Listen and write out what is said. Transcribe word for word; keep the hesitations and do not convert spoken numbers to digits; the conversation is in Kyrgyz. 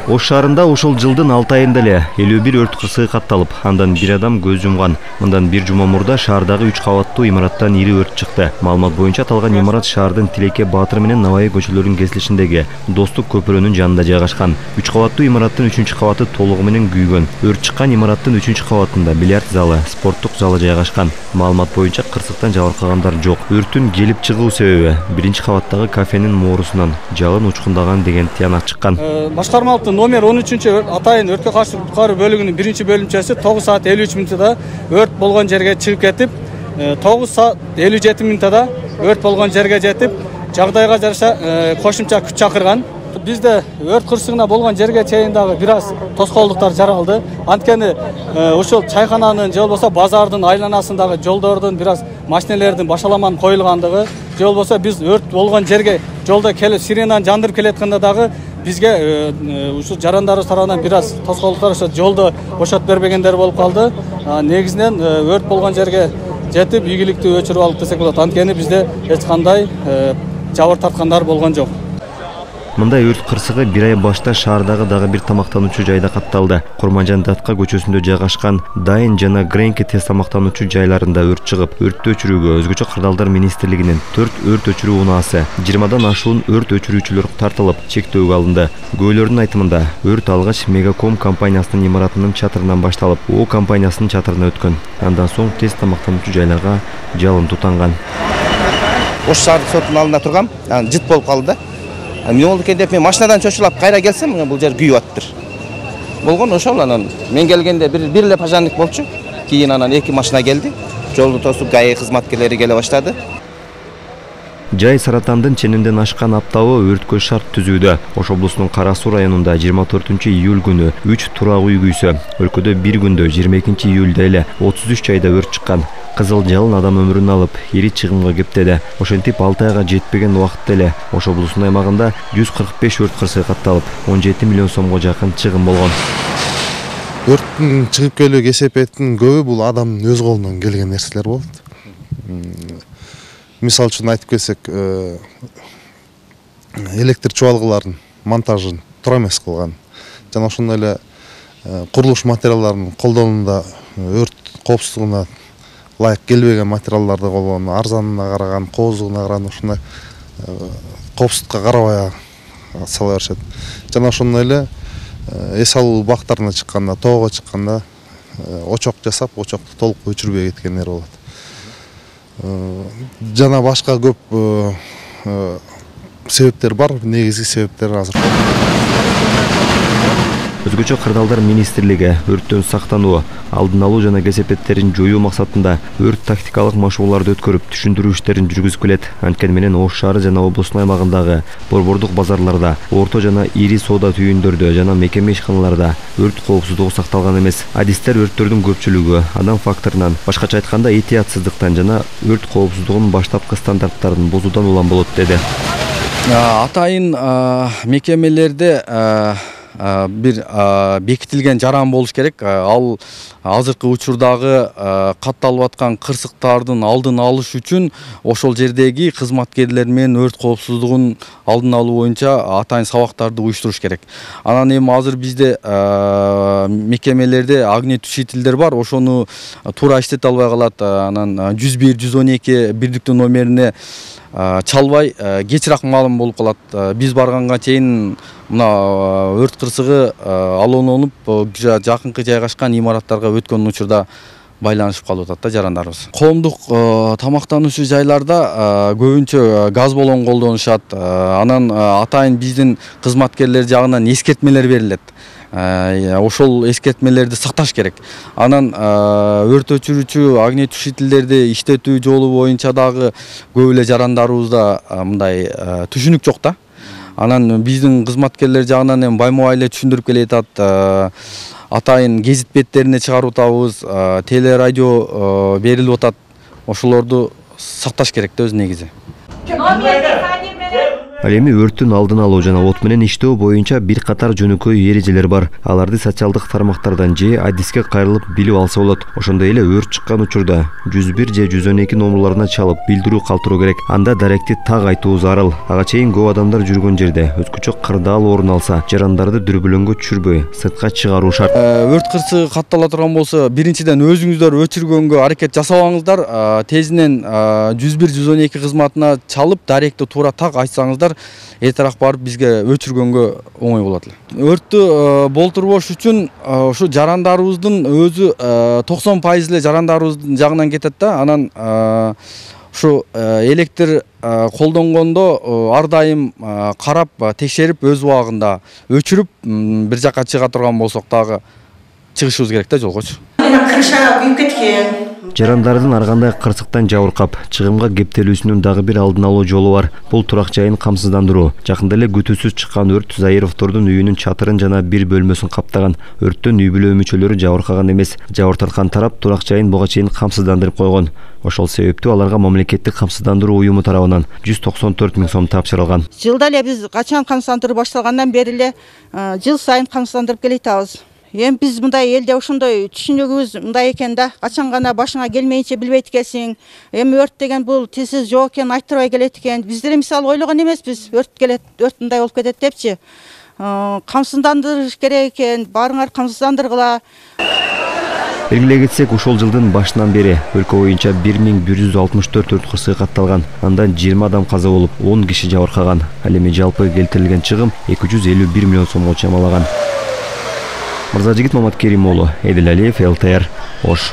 Ош шаарында ушул жылдын алты айында эле элүү бир өрт кырсыгы катталып, андан бир адам көз жумган. Мындан бир жума мурда шаардагы үч кабаттуу имараттан ири өрт чыкты. Маалымат боюнча аталган имарат шаардын Тилеке Баатыр менен Набай көчөлөрүнүн кесилишиндеги Достук көпүрөнүн жанында жайгашкан. үч кабаттуу имараттын үчүнчү кабаты толугу менен күйгөн. Өрт чыккан имараттын үчүнчү кабатында бильярд залы, спорттук залы жайгашкан. Маалымат боюнча кырсыктан жабыркагандар жок. Өрттүн келип чыгуу себеби биринчи кабаттагы кафенин моорусунан жалын учкундаган деген тыянак чыккан. Башкармалыктын номер он үчүнчү Атайын өрткө каршы куткаруу бөлүгүнүн биринчи бөлүмчөсү тогуз саат элүү үч мүнөттө өрт болгон жерге чыгып кетип, тогуз саат элүү жети мүнөттө өрт болгон жерге жетип, жагдайга жараша кошумча күч чакырган. Бизде өрт кырсыгына болгон жерге чейин дагы бир аз тоскоолдуктар жаралды. Анткени ушул чайкананын же болбосо базардын айланасындагы жолдордун бир аз машинелердин башаламан коюлгандыгы, же болбосо биз өрт болгон жерге жолдо келип сиренаны жандырып келеткенде дагы бизге ушул жарандарыбыз тарабынан бир аз тоскоолдуктар ошо жолдо бошотуп бербегендер болуп калды. Негизинен өрт болгон жерге жетип ийгиликтүү өчүрүп алып десек болот. Анткени бизде эч кандай жабыр тарткандар болгон жок. Мындай өрт кырсыгы бир ай башта шаардагы дагы бир тамактануучу жайда катталды. Курманжан Датка көчөсүндө жайгашкан Дайын жана Гренки тез тамактануучу жайларында өрт чыгып, өрттү өчүрүүгө өзгөчө кырдаалдар министрлигинин төрт өрт өчүрүү унаасы, жыйырмадан ашуун өрт өчүрүүчүлөр тартылып, чектөөгө алынды. Күбөлөрдүн айтымында, өрт алгач Мегаком компаниясынын имаратынын чатырынан башталып, О компаниясынын чатырына өткөн. Андан соң тез тамактануучу жайларга жалын тутанган. Ош шаардык соттун алдында тургам, анан жыт болуп калды да. Эмне болду экен деп мен машинадан чочулап кайра келсем, бул жер күйүп атыптыр. Болгон ошол анан мен келгенде бир бир эле пожарник болчу. Кийин анан эки машина келди. Жолду тосуп ГАИ кызматкерлери келе баштады. Жай Саратандын ченемден ашкан аптабы өрткө шарт түзүүдө. Ош облусунун Кара Суу районунда жыйырма төртүнчү июль күнү үч турак үй күйсө, өлкөдө бир күндө жыйырма экинчи июлда эле отуз үч жайда өрт чыккан. Кызыл жалын адам өмүрүн алып, ири чыгымга кептеди. Ошентип алты айга жетпеген убакытта эле Ош облусунун аймагында жүз кырк беш өрт кырсыгы катталып, он жети миллион сомго жакын чыгым болгон. Өрттүн чыгып келүү кесепетинин көбү бул адамдын өз колунан келген нерселер болот. Мисал үчүн айтып келсек, электр чубалгыларынын монтажын туура эмес кылган. Жана ошондой эле курулуш материалдарынын колдонууда өрт коопсуздугуна лайык келбеген материалдарды колдонгон, арзанына караган, коозугуна караган ушундай коопсуздукка карабай сала беришет. Жана ошондой эле эс алуу бактарына чыкканда, тоого чыкканда очок жасап, очокту толук өчүрбөй кеткендер болот. Жана башка көп себептер бар, негизги себептер азыр. Өзгөчө кырдаалдар министрлиги өрттөн сактануу, алдын алуу жана кесепеттерин жоюу максатында өрт тактикалык машыгууларды өткөрүп, түшүндүрүү иштерин жүргүзүп келет. Анткени менен Ош шаары жана облустун аймагындагы борбордук базарларда, орто жана ири соода түйүндөрдө жана мекеме ишканаларда өрт коопсуздугу сакталган эмес. Адистер өрттөрдүн көпчүлүгү адам факторунан, башкача айтканда этиятсыздыктан жана өрт коопсуздугунун баштапкы стандарттарын бузуудан улам болот деди. Атайын мекемелерде бир бекитилген жаран болуш керек. Ал азыркы учурдагы катталып аткан кырсыктардын алдын алыш үчүн ошол жердеги кызматкерлер менен өрт коопсуздугун алдын алуу боюнча атайын сабактарды уюштуруш керек. Анан эми азыр бизде мекемелерде огнетушителдер бар, ошону туура иштете албай калат. Анан жүз бир жүз он эки бирдиктүү номерине чалбай кечирээк маалым болуп калат. Биз барганга чейин мына өрт кырсыгы алоононуп жакынкы жайгашкан имараттарга өткөн учурда байланышып калып атат да жарандарыбыз. Коомдук тамактануучу жайларда көбүнчө газ баллон колдонушат. Анан атайын биздин кызматкерлер жагынан эскертмелер берилет. Ошол эскертмелерди сакташ керек. Анан өрт өчүрүүчү огнетушителдерди иштетүү жолу боюнча дагы көп эле жарандарыбызда мындай түшүнүк жок да. Анан биздин кызматкерлер жагынан эми баймабай эле түшүндүрүп келе атат. Атайын гезит беттерине чыгарып атабыз, теле радио берилип атат. Ошолорду сакташ керек да өз негизи. Ал эми өрттүн алдын алуу жана от менен иштөө боюнча бир катар жөнөкөй эрежелер бар. Аларды социалдык тармактардан же адиске кайрылып билип алса болот. Ошондой эле өрт чыккан учурда жүз бир же жүз он эки номурларына чалып билдирүү калтыруу керек. Анда даректи так айтуу зарыл. Ага чейин көп адамдар жүргөн жерде өзгөчө кырдаал орун алса, жарандарды дүрбөлөңгө түшүрбөй сыртка чыгаруу шарт. Өрт кырсыгы каттала турган болсо, биринчиден өзүңүздөр өчүргөнгө аракет жасабаңыздар. Тезинен жүз бир жүз он эки кызматына чалып, даректи туура так айтсаңыздар, эртерээк барып бизге өчүргөнгө оңой болот эле. Өрттү болтурбош үчүн ушу жарандарыбыздын өзү токсон пайыз эле жарандарыбыздын жагынан кетет да. Анан ушу электр колдонгондо ар дайым карап, текшерип, өз убагында өчүрүп, бир жакка чыга турган болсок дагы чыгышыбыз керек да жолгочу. Крыша күйүп кеткен. Жарандардын ар кандай кырсыктан жабыркап, чыгымга кептелүүсүнүн дагы бир алдын алуу жолу бар. Бул турак жайын камсыздандыруу. Жакында эле күтүүсүз чыккан өрт Заировдордун үйүнүн чатырын жана бир бөлмөсүн каптаган. Өрттөн үй бүлө мүчөлөрү жабыркаган эмес. Жабыр тарткан тарап турак жайын буга чейин камсыздандырып койгон. Ошол себептүү аларга мамлекеттик камсыздандыруу уюму тарабынан жүз токсон төрт миң сом тапшырылган. Жылда эле биз качан камсыздандыруу башталгандан бери эле жыл сайын камсыздандырып келатабыз. Эми биз мындай элде ошондой түшүнүгүбүз мындай экен да, качан гана башыңа келмейинче билбейт экенсиң. Эми өрт деген бул тезсиз жок экен, айтырбай келет экен. Биздер мисалы ойлогон эмеспиз, өрт келет, өрт мындай болуп кетет депчи. Камсыздандырыш керек экен, баарыңар камсыздандыргыла. Белгилей кетсек, ушул жылдын башынан бери өлкө боюнча бир миң бир жүз алтымыш төрт өрт кырсыгы катталган. Андан жыйырма адам каза болуп, он киши жабыркаган. Ал эми жалпы келтирилген чыгым эки жүз элүү бир миллион сомго чамалаган. Мырзажигит Маматкерим уулу, Эдил Алиев, эл тэ эр, Ош.